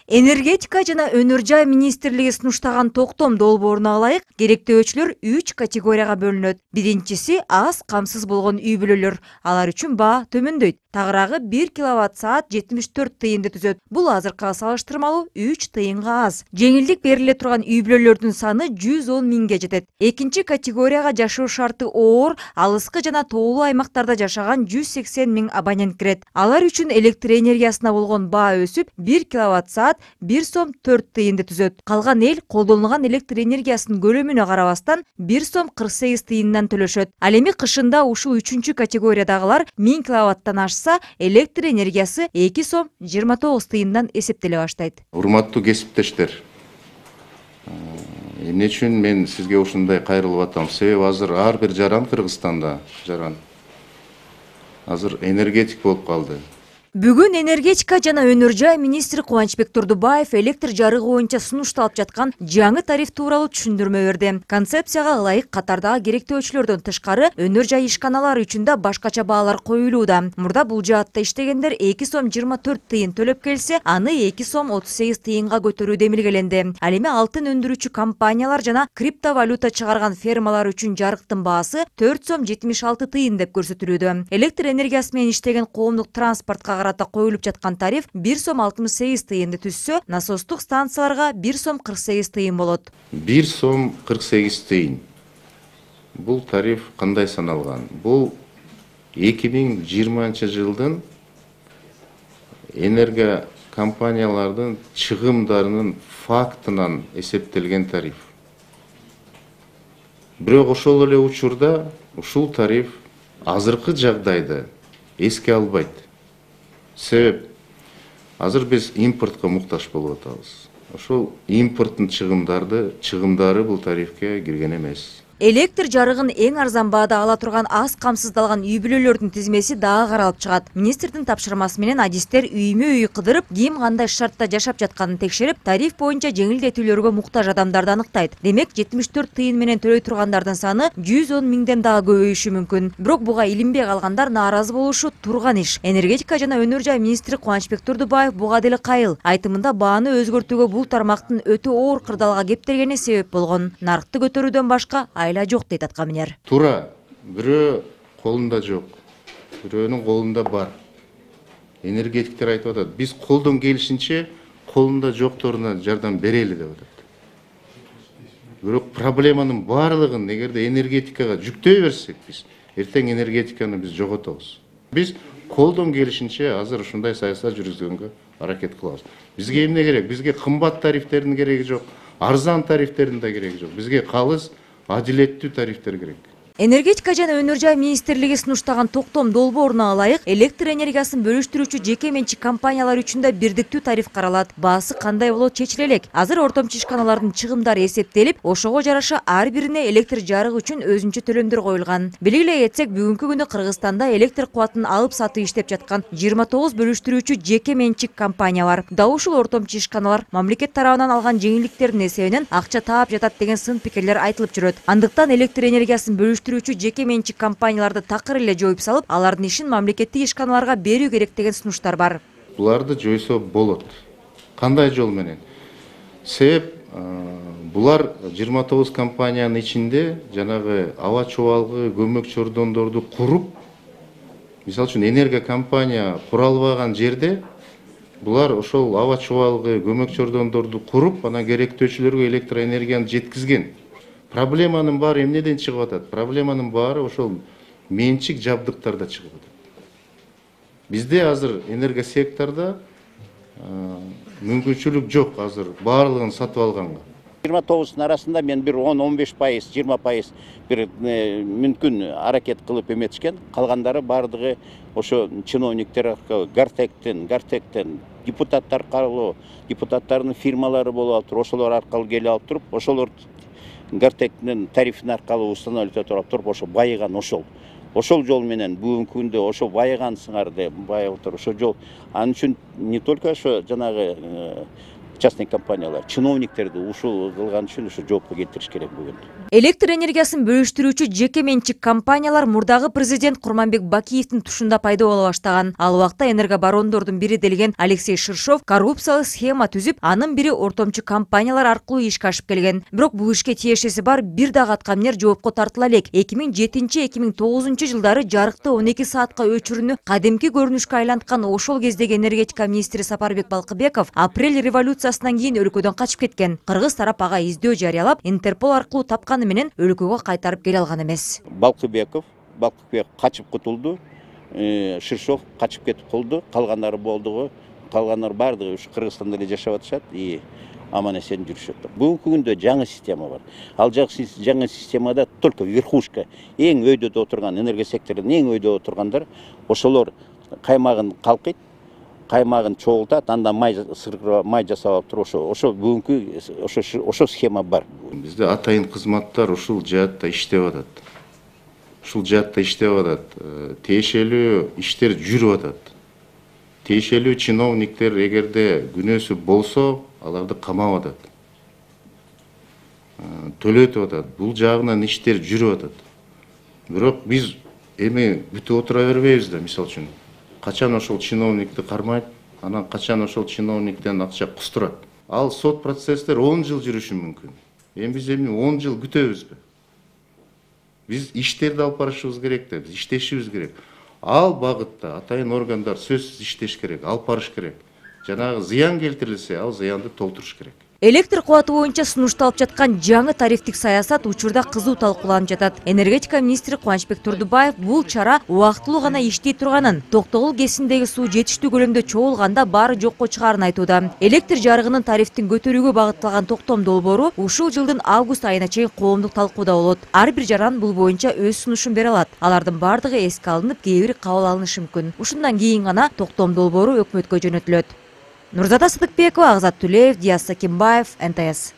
Энергетика жана өнөр жай министрлиги сунуштаган токтом долбооруна ылайык керектөөчүлөр 3 категорияга бөлүнөт. Биринчиси аз камсыз болгон үй бүлөлөр. Алар үчүн баа төмөндөйт. Тагыраагы 1 киловатт-саат 74 тыйынды түзөт. Бул азыркыга салыштырмалуу 3 тыйынга аз. Жеңилдик бериле турган үй бүлөлөрдүн саны 110 миңге жетет. Экинчи категорияга жашоо шарты оор, алыскы жана тоолуу аймактарда жашаган 180 миң абонент кирет. Алар үчүн электр энергиясына болгон баа өсүп 1 киловатт-саат 1 сом 4 тыйынды түзөт. Калган эл колдонулган электр энергиясынын көлөмүнө карабастан 1 сом 48 тыйындан төлөшөт. Ал эми кышында ушул 3 категориядагылар 1000 киловаттан ашса, электр энергиясы 2 сом 29 тыйындан эсептеле баштайт. Урматтуу кесиптештер, эмне үчүн мен сизге ушундай кайрылып атам? Себеби азыр ар бир жаран Кыргызстанда азыр энергетик болуп калды. Бүгүн энергетика жана өнөр жай министри Кубанычбек Турдубаев электр жарыгы боюнча сунушталып жаткан жаңы тариф тууралуу түшүндүрмө берди. Концепцияга ылайык катардагы керектөөчүлөрдөн тышкары өнөр жай ишканалары үчүн да башкача баалар коюлууда. Мурда бул жаатта иштегендер 2 сом 24 тыйын төлөп келсе, аны 2 сом 38 тыйынга көтөрүү демилгеленди. Ал эми алтын өндүрүүчү компаниялар жана криптовалюта чыгарган фермалар үчүн жарыктын баасы 4 сом 76 тыйын деп көрсөтүлүүдө. Электр энергиясы менен иштеген коомдук транспортко карата коюлуп жаткан тариф 1 сом 68 тыйынды түзсө, насостук станцияларга 1 сом 48 тыйын болот. 1 сом 48 тыйын. Бул тариф кандай саналган? Бул 2020 жылдын энерго компаниялардын чыгымдарынын фактынан эсептелген тариф. Бирок ошол эле учурда ушул тариф азыркы жагдайда эске албайт. Себеп азыр биз импортко муктаж болуп атабыз. Ошол импорттун чыгымдары бул тарифке кирген эмес. Электр жарыгын эң арзан баада ала турган аз камсыздалган үй бүлөлөрдүн тизмеси дагы каралып чыгат. Министрдин тапшырмасы менен адистер үймө-үй кыдырып, ким кандай шартта жашап жатканын текшерип, тариф боюнча жеңилдетүүлөргө муктаж адамдарды аныктайт. Демек, 74 тыйын менен төлөй тургандардын саны 110 миңден дагы көбөйүшү мүмкүн. Бирок буга илинбей калгандар нааразы болушу турган иш. Энергетика жана өнөр жай министри Кубанычбек Турдубаев буга деле кайыл. Айтымында бааны өзгөртүүгө бул тармактын өтө оор кырдаалга кептелгени себеп болгон. Наркты көтөрүүдөн башка айла жок дейт аткаминер. Туура, бирөө колунда жок, бирөөнүн колунда бар. Энергетиктер айтып атат, биз колдон келишинче колунда жокторуна жардам берели деп атат. Бирок проблеманын баардыгын эгерде энергетикага жүктөй берсек, биз эртең энергетиканы биз жоготобуз. Биз колдон келишинче азыр ушундай саясат жүргүзгөнгө аракет кылабыз. Бизге эмне керек? Бизге кымбат тарифтердин кереги жок, арзан тарифтердин да кереги жок. Бизге калыс адилеттүү тарифтер керек. Энергетика жана өнөр жай министрлиги сунуштаган токтом долбооруна ылайык электр энергиясын бөлүштүрүүчү жеке менчик компаниялар үчүн да бирдиктүү тариф каралат. Баасы кандай болот чечиле элек. Азыр ортомчу ишканалардын чыгымдары эсептелип, ошого жараша ар бирине электр жарыгы үчүн өзүнчө төлөмдөр коюлган. Белгилей кетсек, бүгүнкү күндө Кыргызстанда электр кубатын алып сатып иштеп жаткан 29 бөлүштүрүүчү жеке менчик компания бар. Дал ушул ортомчу ишканалар мамлекет тарабынан алган жеңилдиктердин эсебинен акча таап жатат деген сын пикирлер айтылып жүрөт. Андыктан электр энергиясын бөлүштүрүүчү жеке менчик компанияларды такыр эле жоюп салып, алардын ишин мамлекеттик ишканаларга берүү керек деген сунуштар бар. Буларды жойсо болот. Кандай жол менен? Себеп булар 29 компаниянын ичинде жанагы аба чубалгы көмөк чордондорду куруп, мисалы үчүн энерго компания кура албаган жерде булар ошол аба чубалгы көмөк чордондорду куруп, анан керектөөчүлөргө электр энергияны жеткизген. Проблеманын баары эмнеден чыгып атат? Проблеманын баары ошол менчик жабдыктарда чыгып атат. Бизде азыр энерго секторда мүмкүнчүлүк жок азыр баардыгын сатып алганга. 29 арасында мен бир 10-15%, 20% бир мүмкүн аракет кылып эметишкен. Калгандары баардыгы ошо чиновниктер Гартектен, депутаттар аркылуу, депутаттардын фирмалары болуп алып туруп, ошолор аркылуу келип алып туруп, ошолор Гартектин тарифин аркылуу устанавливать этип туруп, ошо байыган ошол жол менен бүгүнкү күндө ошо байыган сыңарды байып отуруп ошол жол. Анын үчүн не только ошо жанагы частный компаниялар чиновниктерди ушул кылган үчүн ушу жоопко келтириш керек бүгүн. Электр энергиясын бөлүштүрүүчү жеке менчик компаниялар мурдагы президент Курманбек Бакиевдин тушунда пайда боло баштаган. Ал убакта энергобарондордун бири делген Алексей Ширшов коррупциялык схема түзүп, анын бири ортомчу компаниялар аркылуу ишке ашып келген. Бирок бул ишке тиешеси бар бир дагы аткаминер жоопко тартыла элек. 2007-2009 жылдары жарыкты 12 саатка өчүрүүнү кадимки көрүнүшкө айланткан ошол кездеги энергетика министри Сапарбек Балкыбеков апрель революциясынан кийин өлкөдөн качып кеткен. Кыргыз тарап ага издөө жарыялап, Интерпол аркылуу тапканы менен өлкөгө кайтарып келе алган эмес. Балкыбеков качып кутулду, Ширшов качып кетип калды, калгандары болдугу, калгандар бардыгы ушу Кыргызстанда эле жашап атышат и аман эсен жүрүшөт. Бүгүнкү күндө жаңы система бар. Ал жаңы системада только верхушка, эң өйдөдө отурган энергия секторунун эң өйдө отургандар, ошолор каймагын калкыйт, каймагын чогултат, андан май жасап алып туруп ошо бүгүнкү ошо схема бар. Бизде атайын кызматтар ушул жаатта иштеп атат. Тиешелүү иштер жүрүп атат. Тиешелүү чиновниктер эгерде күнөөсү болсо, аларды камап атат. Төлөтүп атат. Бул жагынан иштер жүрүп атат. Бирок биз эми бүтүп отура бербейбиз да, мисалы үчүн. Качан ошол чиновникти кармайт, анан качан ошол чиновниктен акча кустурат. Ал сот процесстер 10 жыл жүрүшү мүмкүн. Биз 10 жыл күтөбүзбү? Биз иштерди алып барышыбыз керек да, биз иштешибиз керек. Ал багытта атайын органдар сөзсүз иштеш керек, алып барыш керек. Жанагы зыян келтирилсе, ал зыянды толтуруш керек. Электр кубаты боюнча сунушталып жаткан жаңы тарифтик саясат учурда кызуу талкууланып жатат. Энергетика министри Кубанычбек Турдубаев бул чара убактылуу гана иштей турганын, Токтогул КЭСиндеги суу жетиштүү көлөмдө чогулганда баары жокко чыгарын айтууда. Электр жарыгынын тарифтин көтөрүүгө багытталган токтом долбоору ушул жылдын август айына чейин коомдук талкууда болот. Ар бир жаран бул боюнча өз сунушун бере алат. Алардын бардыгы эске алынып, кээ бири кабыл алынышы мүмкүн. Ушундан кийин гана токтом долбоору өкмөткө жөнөтүлөт. Нурзада Сыдыкбекова, Агзат Тулеев, Диас Сакимбаев, НТС.